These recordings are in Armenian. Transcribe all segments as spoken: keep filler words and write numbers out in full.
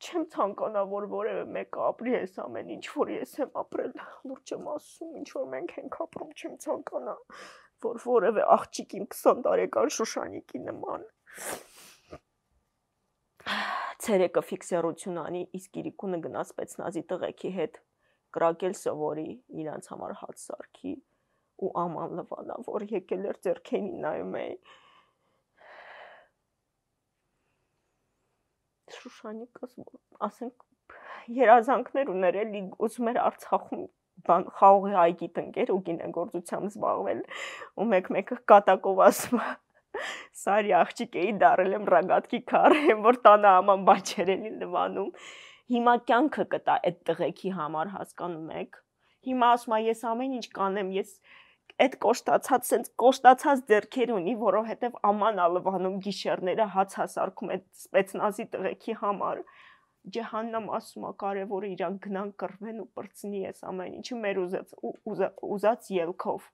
չեմ ցանկանա, որ որևէ մեկը ապրի այս ամեն ինչ, որ ես եմ ապրել, լուրջ եմ ասում, ինչ որ մենք ենք ապրում, չեմ ցանկանա, որ որևէ աղջիկ իմ քսան տարեկան Շուշանիկի նման ցերեկը ֆիքսերություն անի, իսկ իրիկունը գնաց спецնազի տղեկի հետ կրակել սովորի, իրանց համար հաց սարքի ու աման լվանա, որ եկել էր ձեռքերին նայում էի։ Շուշանիկս, ասենք, երազանքներ ուներ էլի, ուզում էր Արցախում բան խաղողի այգի տնկեր ու գինեգործությամբ զբաղվել, ու մեկ-մեկը կատակով ասում է, սարի աղջիկ էի դարել եմ ռագատքի քար, որ տանը աման բաչեր էլի լվանում։ Հիմա կյանքը կտա այդ տղեկի համար, հասկանում եք։ Հիմա ասում է, ես ամեն ինչ կանեմ, ես այդ կոշտացած, սենց կոշտացած ձեռքեր ունի, որովհետև աման ա լվանում գիշերները հաց հասարքում այդ սպեցնազի տղեկի համար։ Ջեհաննամ ասում է, կարևորը իրանք գնան կռվեն ու պրծնի այս ամեն ինչը մեր ուզած, ուզած ելքով։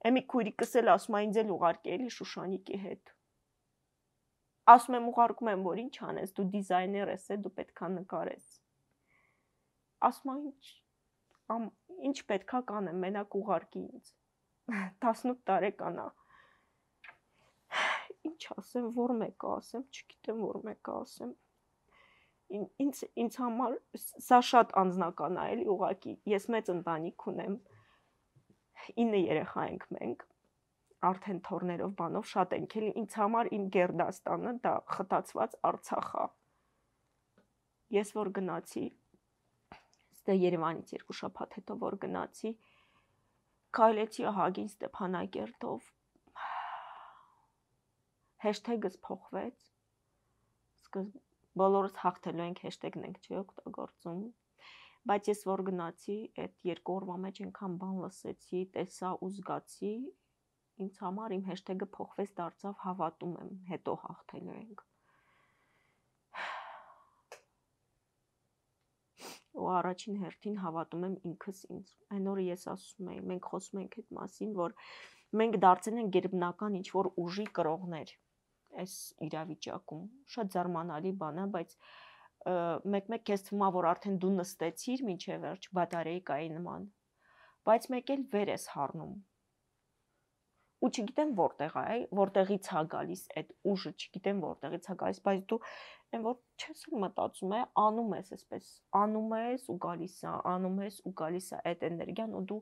Էմի քույրիկս էլ ասում է, ինձ էլ ուղարկի էլի Շուշանիկի հետ։ Ասում եմ, ուղարկում եմ, որ ինչ անես, դու դիզայներ ես, դու պետքա նկարես։ Ասում է, ինչ, ինչ պետքա կանեմ, մենակ ուղարկի ինձ։ տասնութ տարեկան է։ Ինչ ասեմ, որ մեկը ասեմ, չգիտեմ, որ մեկը ասեմ։ Ինձ ինձ համար սա շատ անձնական է, էլի ուղղակի, ես մեծ ընտանիք ունեմ, ինը երեխա ենք մենք, արդեն թորներով բանով շատ ենք, էլի ինձ համար իմ Գերդաստանը դա խտացված Արցախ է։ Ես որ գնացի, ստե Երևանից երկու շաբաթ հետո որ գնացի, քայլեցի Ահագին Ստեփանակերտով, հեշթեգս փոխվեց, սկզբ բոլորս հաղթելու ենք հեշթեգն ենք չի օգտագործում, բայց ես որ գնացի, այդ երկու օրվա մեջ այնքան բան լսեցի, տեսա ու զգացի, ինձ համար իմ հեշթեգը փոխվեց, դարձավ հավատում եմ, հետո հաղթելու ենք։ Ու առաջին հերթին հավատում եմ ինքս ինձ։ Այն օրը ես ասում էի, մենք խոսում ենք այդ մասին, որ մենք դարձել ենք գերբնական ինչ-որ ուժի կրողներ այս իրավիճակում։ Շատ զարմանալի բան է, բայց մեկ-մեկ քեզ թվում է, որ արդեն դու նստեցիր մինչև վերջ բատարեյկայի նման, բայց մեկ էլ վեր ես հառնում։ Ու չգիտեմ որտեղ է, որտեղից է գալիս այդ ուժը, չգիտեմ որտեղից է գալիս, բայց դու այն որ չես մտածում է, անում ես այսպես, անում ես ու գալիս է, անում ես ու գալիս է այդ էներգիան ու դու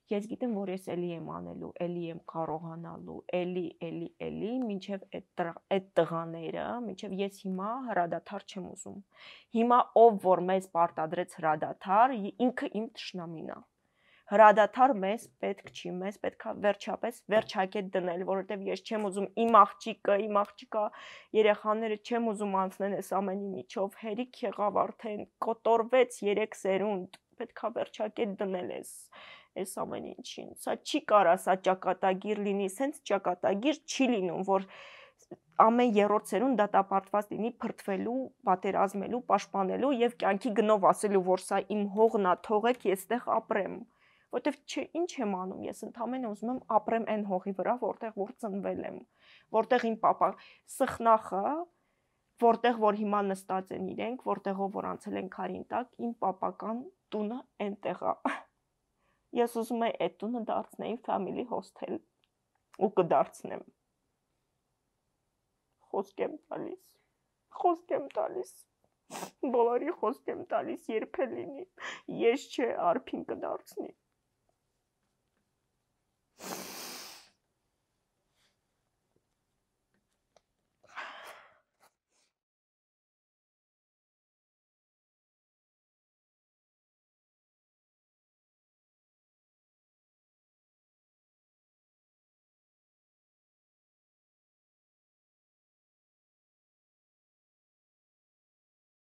ես գիտեմ, որ ես էլի եմ անելու, էլի եմ կարողանալու, էլի, էլի, էլի, մինչև այդ տղաները, մինչև ես հիմա հրադադար չեմ ուզում։ Հիմա ով որ մեզ պարտադրեց հրադադար, ինքը իմ թշնամին է։ Հրադադար մեզ պետք չի, մեզ պետք է վերջապես վերջակետ դնել, որովհետև ես չեմ ուզում իմ աղջիկը, իմ աղջիկա երեխաները չեմ ուզում անցնեն այս ամենի միջով, հերիք եղավ արդեն, կոտորվեց երեք սերունդ, պետք է վերջակետ դնել ես այս ամեն ինչին։ Սա չի կարա, սա ճակատագիր լինի, սենց ճակատագիր չի լինում, որ ամեն երրորդ սերունդ դատապարտված լինի փրթվելու, պատերազմելու, պաշտպանելու եւ կյանքի գնով ասելու, որ սա իմ հողն է, թողեք ես տեղ ապրեմ։ Որտեվ չէ, ինչ եմ անում, ես ընդամենը ուզում եմ ապրեմ այն հողի վրա, որտեղ որ ծնվել եմ, որտեղ իմ պապա սխնախը, որտեղ որ հիմա նստած են իրենք, որտեղով որ անցել են քարին տակ, իմ պապական տունը այնտեղ է։ Ես ուզում եմ այդ տունը դարձնեի family hostel ու կդարձնեմ։ Խոսք եմ տալիս, խոսք եմ տալիս, բոլորի խոսք եմ տալիս, երբ է լինի, ես չէ, Արփին կդարձնի։